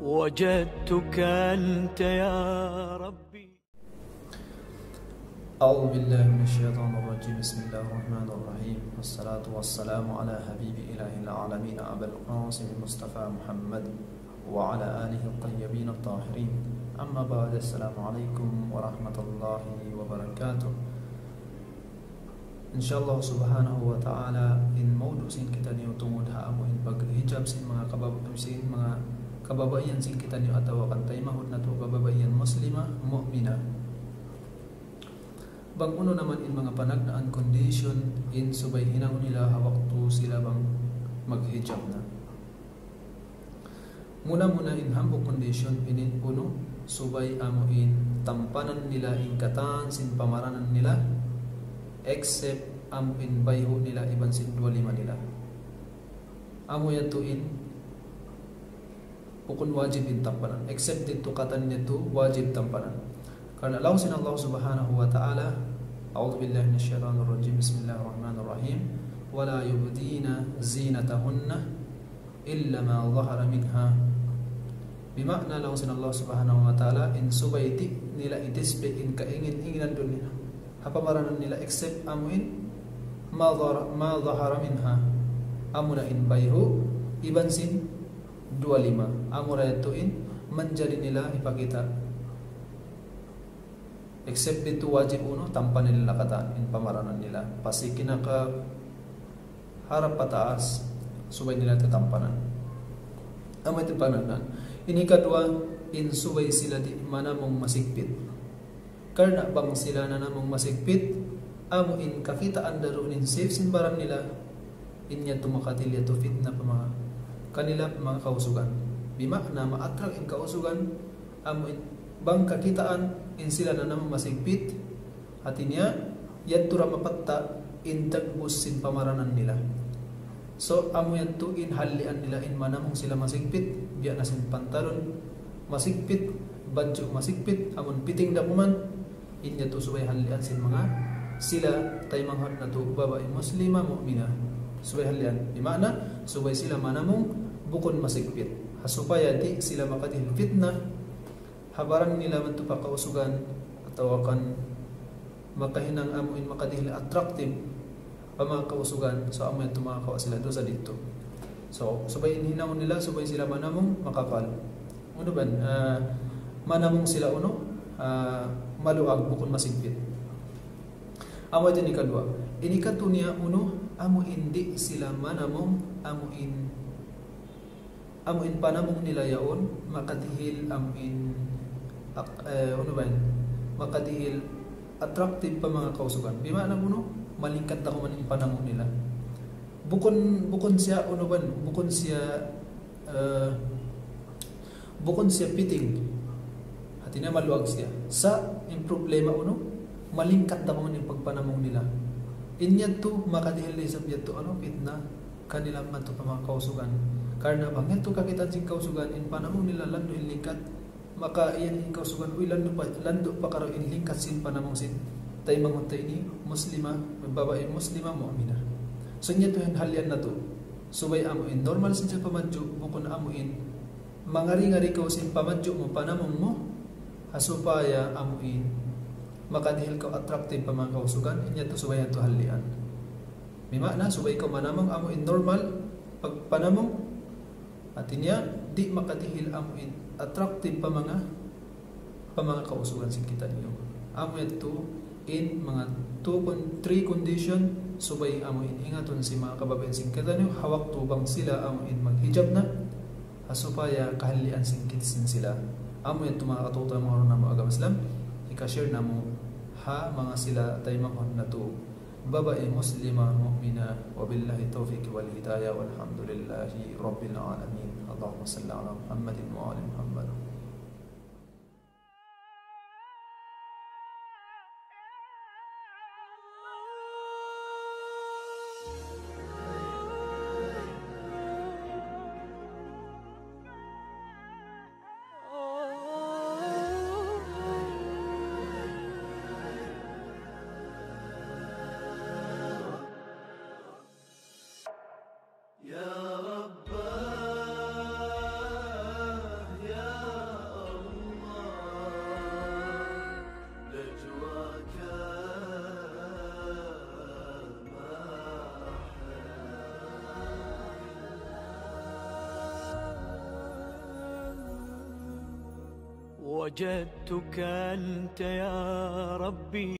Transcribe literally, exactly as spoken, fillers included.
وجدتك أنت يا ربي. أعوذ بالله من الشيطان الرجيم. بسم الله الرحمن الرحيم. والصلاة والسلام على حبيب إله العالمين أبا القاسم المصطفى محمد وعلى آله الطيبين الطاهرين. أما بعد، السلام عليكم ورحمة الله وبركاته. Insha Allah subhanahu wa ta'ala, in mawdu' sin kitaniyu tungud ha amu in paghijab sin manga kabab-, sin manga kababaihan sin kitaniyu atawa kan taymanghud natu' kababaihan Muslima, mu'mina. Bang unu na man in manga panagnaan condition in subay hinangun nila ha waktu sila bang maghijab na. Muna-muna in hambuuk condition ini unu, subay amu in tampanan nila in katan sin pamaranan nila, except amu in bayhu' nila iban sin duwa lima nila. Amu yadtu in bukun wajib in tampanan. Except didtu katan yadtu wajib tampanan. Karna' laung sin Allah subhanahu wa ta'ala, أعوذ بالله من الشيطان الرجيم. بسم الله الرحمن الرحيم. ولا يبدين زينتهن إلا ما ظهر منها. Bima'na laung sin Allah subhanahu wa ta'ala, in subay di' nila i-display in kaingin-inginan duun nila ha pamaranan nila except amu in ما ظهر, ما ظهر منها. Amu na in bayhu', iban sin duwa lima. Amu ra yadtu in manjari nila hipakita'. Except didtu wajib unu, tampanan nila katan in pamaranan nila. Pasal kinaka harap pataas, subay nila tatampanan. Amu yadtu in panagnaan. Ini kaduwa, in subay sila di' manamung masigpit. Karna' bang sila nanamung masigpit, amu in kakitaan da duun in safe sin baran nila, in yadtu makadihil yadtu fitna pa manga kanila pa manga kausugan. Bima'na ma-attract in kausugan, amu in bang kakitaan in sila nanamung masigpit, hati niya, yadtu ra mapatta' in dagbus sin pamaranan nila. So, amu yadtu in hallian nila in manamung sila masigpit, biya' na sin pantalon masigpit, badju' masigpit, amun piting dakuman, in yadtu subay hallian sin manga sila taymanghud natu' babai Muslima mu'mina. Subay hallian. Bima'na, subay sila manamung bukun masigpit. Ha supaya di' sila makadihil fitna, ha baran nila madtu pa kausugan, atawa kan makahinang amu in makadihil attractive pa manga kausugan, so amu yadtu makakawa' sila dusa didtu. So, subay in hinangun nila, subay sila manamung makapal. Unu ba yan? Ah, manamung sila unu, ah, maluag bukun masigpit. Amu yadtu in ikaduwa. In ikatu niya unu, amu in di' sila manamung, amu in amu in panamung nila yaun, makadihil amu in, ak-, eh, unu ba yan? Makadihil attractive pa manga kausugan. Bima'na unu, malingkat da kuman in panamung nila. Bukun, bukun siya, unu ba yan? Bukun siya, eh, bukun siya piting. Hati niya maluag siya. Sa' in problema unu, malingkat da kuman in pagpanamung nila. In yadtu, makadihil da isab yadtu, unu, fitna kanila madtu pa manga kausugan. Karna' bang yadtu kakitaan sin kausugan, in panamung nila landu' in lingkat, maka iyan in kausugan, uy, landu' pa, landu' pa karaw in lingkat sin panamung sin taymanghud ta ini, Muslima, babai Muslima, mu'mina. So, in yadtu yan hallian natu'. Subay amu in normal sin siya pamadju', bukun amu in mangari-ngari kaw sin pamadju' mu, panamung mu, ha supaya amu in makadihil kaw attractive pa manga kausugan, in yadtu subay yadtu hallian. Bima'na, subay kaw manamung amu in normal pagpanamung, hati niya, di' makadihil amu in attractive pa manga, pa manga kausugan sin kitaniyu. Amu yadtu in manga two con-, three condition, subay amu in ingatun sin manga kababaihan sin kitaniyu, ha waktu bang sila amu in maghijab na, ha supaya kahalian sin kit-, sin sila. Amu yadtu manga kataymanghuran namu' agama Islam, hika-share namu' ha manga sila taymanghud natu'. Babai Muslima, mu'mina, وبالله التوفيق والهداية والحمد لله رب العالمين. اللهم صل على محمد وآل محمد. وجدتك أنت يا ربي.